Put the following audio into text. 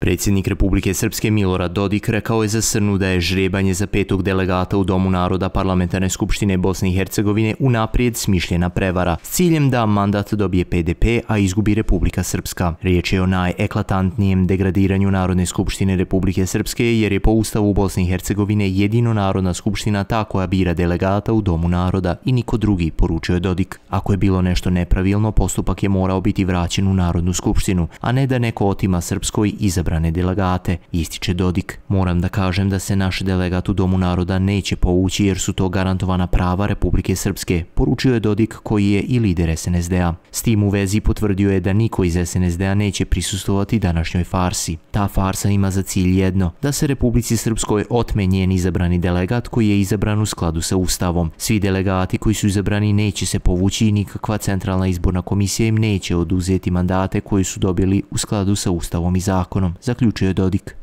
Predsjednik Republike Srpske Milorad Dodik rekao je za Srnu da je žrebanje za 5. delegata u Domu naroda Parlamentarne skupštine Bosne i Hercegovine unaprijed smišljena prevara s ciljem da mandat dobije PDP, a izgubi Republika Srpska. Riječ je o najeklatantnijem degradiranju Narodne skupštine Republike Srpske, jer je po Ustavu Bosne i Hercegovine jedino Narodna skupština ta koja bira delegata u Domu naroda i niko drugi, poručio je Dodik. Ako je bilo nešto nepravilno, postupak je morao biti vraćen u Narodnu skupštinu, a ne da neko otima Srpskoj izabrane delegate, ističe Dodik. Moram da kažem da se naš delegat u Domu naroda neće povući jer su to garantovana prava Republike Srpske, poručio je Dodik koji je i lider SNSD-a. S tim u vezi potvrdio je da niko iz SNSD-a neće prisustvovati današnjoj farsi. Ta farsa ima za cilj jedno, da se Republici Srpskoj otme njen izabrani delegat koji je izabran u skladu sa Ustavom. Svi delegati koji su izabrani neće se povući i nikakva centralna izborna komisija im neće oduzeti mandate koje su dobili u skladu sa Ustavom i zakonom, zaključio je Dodik.